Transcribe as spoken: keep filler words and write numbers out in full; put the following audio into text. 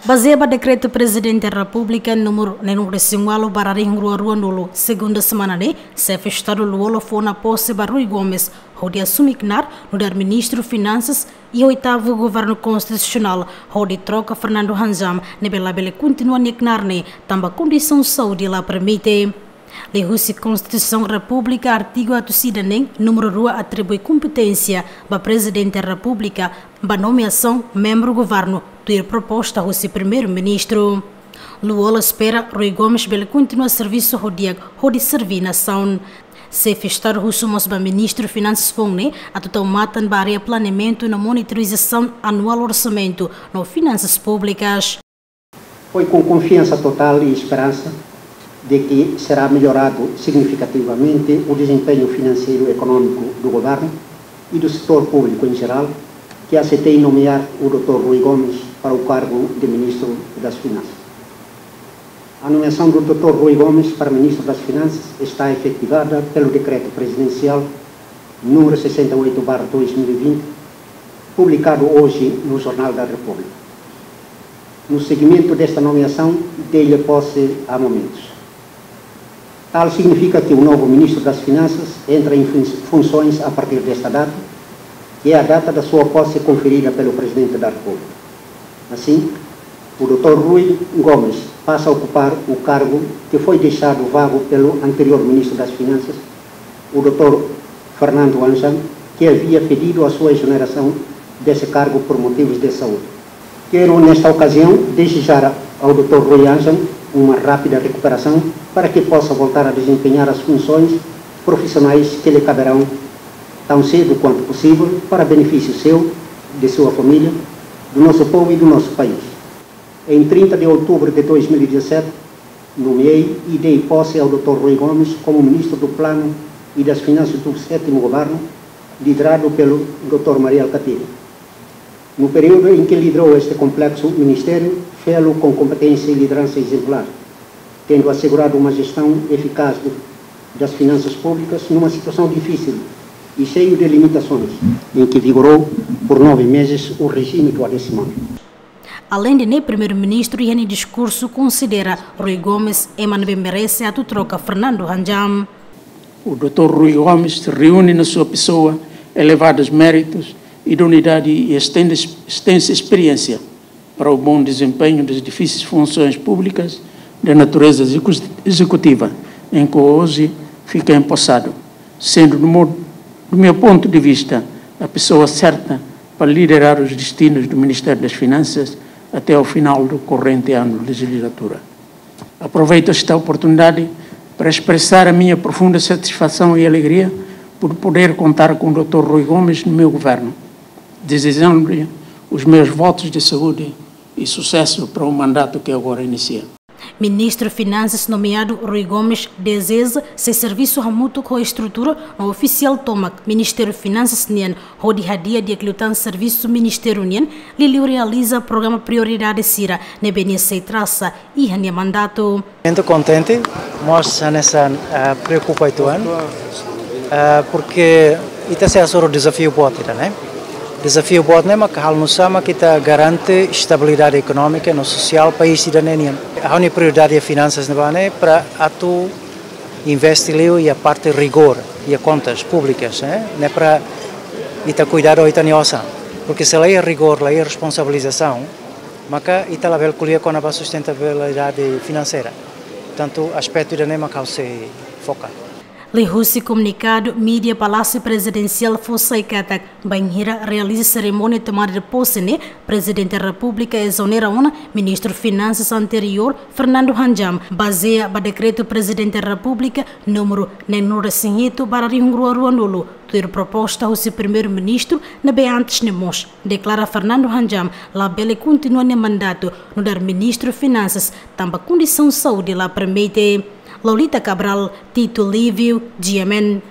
Bazeia ba Dekretu Prezidente Repúblika númeru neenulu-resin-ualu barra rihun rua ruanulu, segunda semana ne'e, Xefe Estadu Lú-Olo fó ona pose ba Rui Gomes, hodi asume knaar nu'udar Ministru Finansas iha oitavu Governu Konstitusionál, hodi troka Fernando Hanjam, ne'ebé labele kontinua nia knaar ne'e, tanba kondisaun saúde la permite. Liuhusi Konstituisaun Repúblika, artigu atus ida neen númeru rua atribui kompeténsia ba Prezidente Repúblika ba nomeasaun membru governu, tuir proposta husi Primeiru-Ministru. Lú-Olo espera Rui Gomes bele kontinua servisu ho di'ak hodi serve nasaun. Xefe Estadu husu mós ba Ministru Finansas foun ne'e atu tau matan ba área planeamentu no monitorizasaun anuál orsamentu no finansas públikas. Foi com confiança total e esperança de que será melhorado significativamente o desempenho financeiro e econômico do governo e do setor público em geral que aceitei nomear o doutor Rui Gomes para o cargo de Ministro das Finanças. A nomeação do doutor Rui Gomes para Ministro das Finanças está efetivada pelo Decreto Presidencial número sessenta e oito barra dois mil e vinte, publicado hoje no Jornal da República. No seguimento desta nomeação, dei-lhe posse há momentos. Tal significa que o novo Ministro das Finanças entra em fun-, funções a partir desta data, que é a data da sua posse conferida pelo Presidente da República. Assim, o doutor Rui Gomes passa a ocupar o cargo que foi deixado vago pelo anterior Ministro das Finanças, o doutor Fernando Hanjam, que havia pedido a sua exoneração desse cargo por motivos de saúde. Quero, nesta ocasião, desejar ao doutor Rui Hanjam uma rápida recuperação para que possa voltar a desempenhar as funções profissionais que lhe caberão tão cedo quanto possível, para benefício seu, de sua família, do nosso povo e do nosso país. Em trinta de outubro de dois mil e dezassete, nomeei e dei posse ao doutor Rui Gomes como Ministro do Plano e das Finanças do sétimo Governo, liderado pelo doutor Mari Alkatiri. No período em que liderou este complexo ministério, fê-lo com competência e liderança exemplar, tendo assegurado uma gestão eficaz de, das finanças públicas numa situação difícil e cheia de limitações, em que vigorou por nove meses o regime do Adesimónio. Aleinde ne'e, Primeiru-Ministru iha nia diskursu konsidera Rui Gomes ema ne'ebé merese atu troka Fernando Hanjam. O doutor Rui Gomes reúne na sua pessoa elevados méritos, idoneidade e extende-, extensa experiência para o bom desempenho das difíceis funções públicas de natureza execu-, executiva em que hoje fica empossado, sendo, do modo, do meu ponto de vista, a pessoa certa para liderar os destinos do Ministério das Finanças até ao final do corrente ano de legislatura. Aproveito esta oportunidade para expressar a minha profunda satisfação e alegria por poder contar com o doutor Rui Gomes no meu governo, desejando-lhe os meus votos de saúde e sucesso para o mandato que agora inicia. Ministru Finansas nomeadu Rui Gomes dezeja sei servisu hamutuk ho estrutura no ofisiál tomak Ministériu Finansas nian, hodi hadi'a di'ak liután servisu ministériu nian, liuliu realiza programa prioridade sira ne'ebé nia sei trasa iha nia mandatu. Sinto kontente, mas hanesan, ah, preokupa uitoan, ah, porque ita sei hasoru dezafiu boot ida, ne'e? Dezafiu boot ne'e mak halo nu'usá mak ita garante estabilidade ekonómika no sosiál país ida-ne'e nian. Ha'u-nia prioridade iha finansas ne'ebá ne'e para atu investe liu iha parte rigór, iha kontas públikas, eh? Ne'e para ita kuidadu ita-nia osan. Porque se la iha rigór, la iha responsabilizasaun, maka ita labele ko'alia kona-ba sustentabilidade finanseira. Portantu, aspetu ida-ne'e mak ha'u sei foka. Liuhusi komunikadu, mídia Palásiu Prezidensiál fó sai katak, bainhira realiza serimónia tomada de pose ne'e, Prezidente Repúblika ezonera ona Ministru Finansas anteriór, Fernando Hanjam, bazeia ba Dekretu Prezidente Repúblika númeru neenulu-resin-hitu barra rihun rua ruanulu, tuir proposta husi Primeiru-Ministru, ne'ebé antes ne'e mós deklara Fernando Hanjam labele kontinua nia mandatu nu'udar Ministru Finansas, tanba kondisaun saúde la permite. Lolita Cabral, Tito Lívio, G M N.